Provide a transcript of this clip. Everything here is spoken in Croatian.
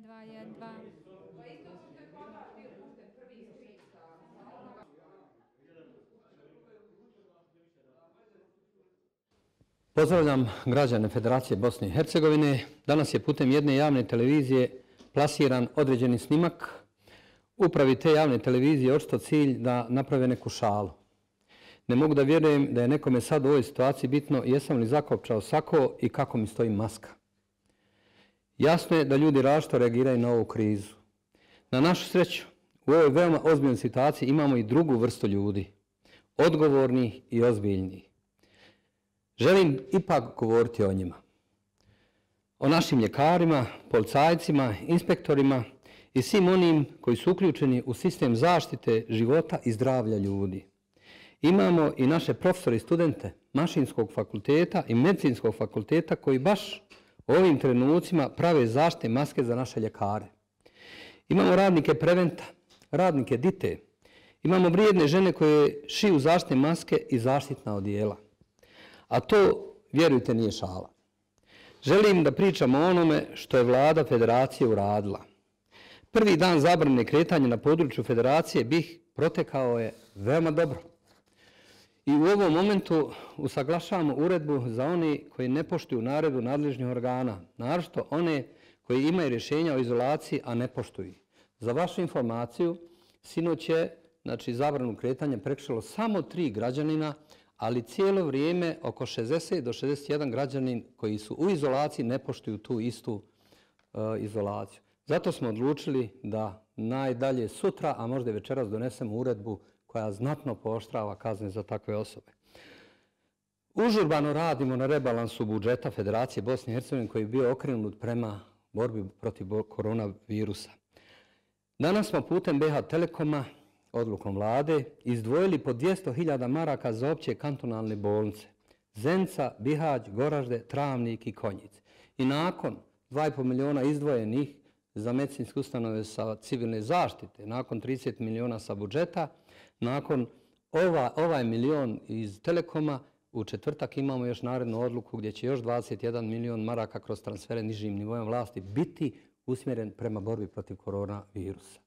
2, 1, 2. Pozdravljam građane Federacije Bosne i Hercegovine. Danas je putem jedne javne televizije plasiran određeni snimak. Upravi te javne televizije očito cilj da naprave neku šalu. Ne mogu da vjerujem da je nekome sad u ovoj situaciji bitno jesam li zakopčao sako i kako mi stoji maska. Jasno je da ljudi različito reagiraju na ovu krizu. Na našu sreću, u ovoj veoma ozbiljnoj situaciji imamo i drugu vrstu ljudi, odgovornih i ozbiljnih. Želim ipak govoriti o njima. O našim ljekarima, policajcima, inspektorima i svim onim koji su uključeni u sistem zaštite života i zdravlja ljudi. Imamo i naše profesore i studente Mašinskog fakulteta i Medicinskog fakulteta koji baš u ovim trenucima prave zaštitne maske za naše ljekare. Imamo radnike Preventa, radnike Dite. Imamo vrijedne žene koje šiju zaštitne maske i zaštitna odijela. A to, vjerujte, nije šala. Želim da pričam o onome što je vlada Federacije uradila. Prvi dan zabrane kretanja na području Federacije protekao je veoma dobro. I u ovom momentu usaglašavamo uredbu za oni koji ne poštuju naredbu nadležnih organa, naročito one koji imaju rješenja o izolaciji, a ne poštuju. Za vašu informaciju, sinoć je zabranu kretanja prekršilo samo 3 građanina, ali cijelo vrijeme oko 60 do 61 građanin koji su u izolaciji ne poštuju tu istu izolaciju. Zato smo odlučili da najdalje sutra, a možda i večeras donesemo uredbu koja znatno pooštrava kazne za takve osobe. Užurbano radimo na rebalansu budžeta Federacije Bosne i Hercegovine koji je bio okrenut prema borbi protiv koronavirusa. Danas smo putem BH Telekoma, odlukom vlade, izdvojili po 200.000 maraka za opće kantonalne bolnice Zenica, Bihać, Goražde, Travnik i Konjic. I nakon 2,5 miliona izdvojenih za medicinske ustanove sa civilne zaštite, nakon 30 miliona sa budžeta, nakon ovaj milion iz Telekoma, u četvrtak imamo još narednu odluku gdje će još 21 milion maraka kroz transfere nižim nivojem vlasti biti usmjeren prema borbi protiv koronavirusa.